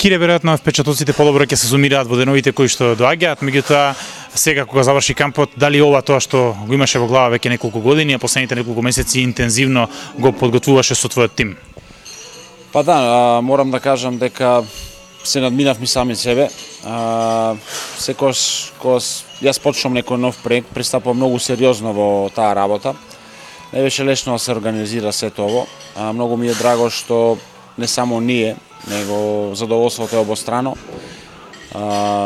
Кире веројатно впечатоците подобро ќе се сумираат во деновите кои што доаѓаат, меѓутоа сега кога заврши кампот, дали ова тоа што го имаше во глава веќе неколку години, а последните неколку месеци интензивно го подготвуваше со твојот тим? Па да, морам да кажам дека се надминавме сами себе. Секогаш кога јас почнам некој нов проект, пристапувам многу сериозно во таа работа. Не беше лесно да се организира сето ово. Многу ми е драго што не само ние, него задоволството е обострано.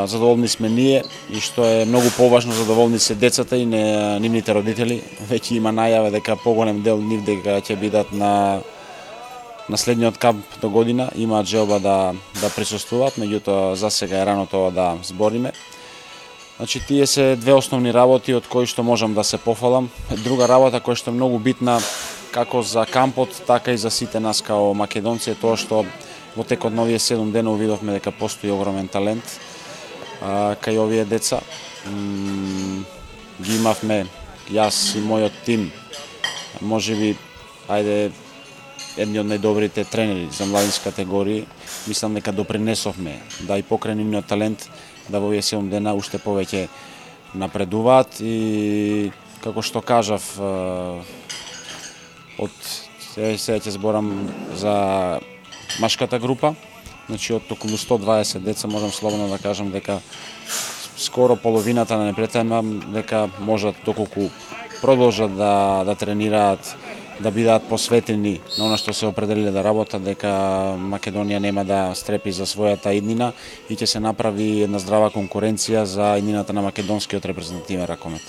Задоволни сме ние и што е многу поважно, задоволни се децата и нивните родители. Веќе има најава дека поголем дел нив дека ќе бидат на следниот камп до година, имаат желба да присуствуваат, меѓутоа за сега е рано тоа да збориме. Значи, тие се две основни работи од кои што можам да се пофалам. Друга работа која што е многу битна како за кампот, така и за сите нас као македонци е тоа што во текот на овие 7 дена увидовме дека постои огромен талент кај овие деца. Ги имавме јас и мојот тим, можеби, едни од најдобрите тренери за младински категории. Мислам дека допринесовме да и покрај нивниот талент да во овие 7 дена уште повеќе напредуваат и како што кажав, од сега ќе зборам за машката група, значи од околу 120 деца можам слободно да кажам дека скоро половината на непретенам дека можат доколку продолжат да тренираат, да бидат посветени на она што се определиле да работат, дека Македонија нема да стрепи за својата иднина и ќе се направи една здрава конкуренција за иднината на македонскиот репрезентативен ракомет.